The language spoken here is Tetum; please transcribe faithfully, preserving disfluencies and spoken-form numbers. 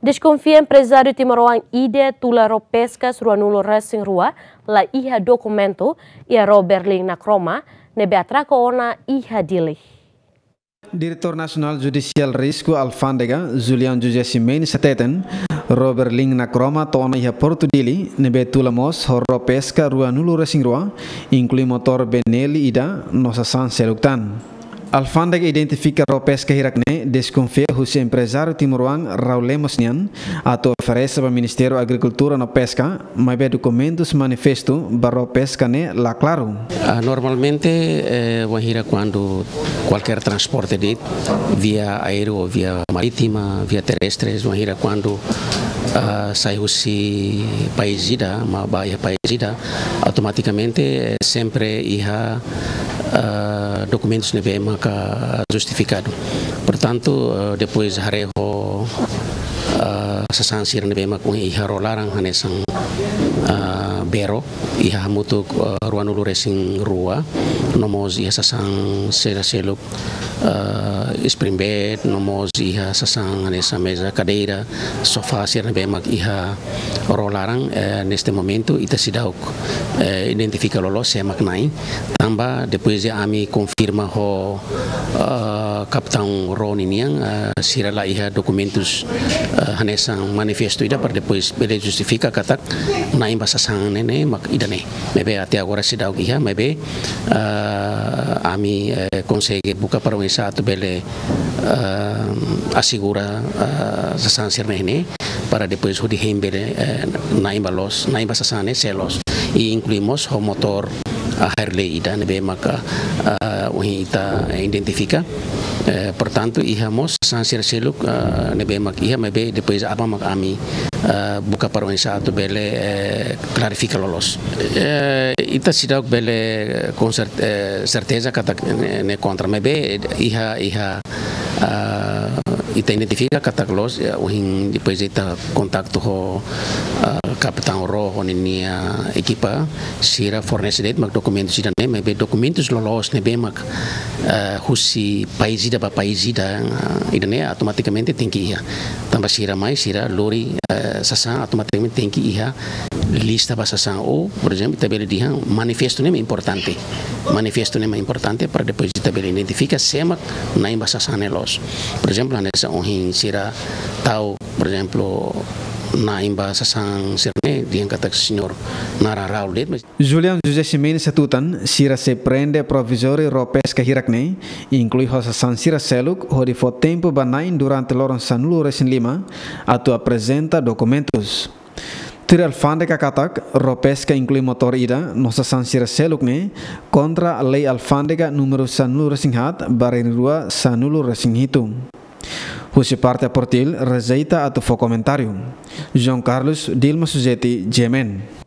Deskonfia emprezáriu timoroan ida tula ró peskas ruanulu resin rua la iha dokumentu iha ró Berlin Nakroma ne'ebé atraka ona iha Dili. Diretór Nasionál Judisiál Risku Alfándega, Julião José Ximenes hateten, ró Berlin Nakroma to'o ona iha Portu Dili, ne'ebé tula mós ho ró peska ruanulu resin rua, inklui motór Benelli ida, no sasán seluk tan. Alfándega identifika ró peska hirak ne'e deskonfia husi emprezáriu timoroan Raul Lemos nian, atu oferese ba Ministériu Agrikultura no Peska, maibé dokumentus manifestu ba ró peska ne'e la klaru. Ah, normalmente, eh, wainhira kuandu kualkér transporte de'it, via aéreu ou via marítima, via terrestres, wainhira kuandu, ah, sai husi país ida, mak bá iha país ida, automatikamente, eh, sempre iha, ah, dokumentus ne'ebé maka justifikadu. Portantu, eh, depois haree ho, ah, sasán sira ne'ebé mak iha ró laran hanesan, ah, bee ró, iha hamutuk, eh, ruanulu resin rua, no mós iha sasán sira seluk, eh, spring bed, no mós iha sasán hanesan meza, kadeira, sofá sira ne'ebé mak iha ró laran, eh, neste momento ita seidauk, eh, identifika loloos sé mak na'in, tanba depois de ami konfirma ho, eh, kapitaun ró ninian, eh, sira la iha dokumentus, eh, hanesan manifestu ida para depois bele justifika katak na'in ba sasán ne'e ne'e mak ida-ne'e. Maibé até agora seidauk iha, maibé, eh, ami, eh, konsege buka para oinsá atu bele, eh, asegura, eh, sasán sira-ne'e ne'e, para depois hodi hein bele, eh, na'in ba loos, na'in ba sasán ne'e sé loos. I inklui mós ho motór, ah, Harley ida ne'ebé maka, ah, ohin ita identifika. Eh, portantu, iha mós sasán sira seluk, ah, ne'ebé mak iha, maibé depois aban mak ami, ah, buka para oinsá atu bele, eh, klarifika loloos. Eh, ita seidauk bele, eh, com cer-, eh, certeza katak ne'e, ne'e kontra, maibé iha, iha, ah, ita identifika katak loos, ya, ohin depois ita kontaktu ho, ah, kapitaun ró ho ninia ekipa, sira fornese de'it mak dokumentus ida-ne'e, maibé dokumentus loloos ne'ebé mak, eh, husi país ida ba país ida, eh, ida-ne'e automatikamente tenke iha. Tanba sira mai, sira lori, eh, sasán, automatikamente tenke iha lista ba sasán. Ou, por ezemplu, ita bele dehan manifestu ne'e mak importante. Manifestu ne'e mak importante para depois ita bele identifika sé mak na'in ba sasán ne'e loos. Por ezemplu, hanesan ohin sira tau, por ezemplu, na'in ba sasán sira-ne'e, dehan katak señór naran Raul de'it, mas Julião José Ximenes hatutan, sira sei prende provizóriu ró peska hirak ne'e, inklui ho sasán sira seluk, hodi fó tempu ba na'in durante loron sanulu resin lima, atu aprezenta dokumentus. Tuir alfándega katak, ró peska inklui motór ida, no sasán sira seluk ne'e, kontra lei alfándega númeru sanulu resin haat, barra rua sanulu resin hitu. Husi parte APROTIL, rejeita atu fó komentáriu. João Carlos, Dilma Suzeti, G M N.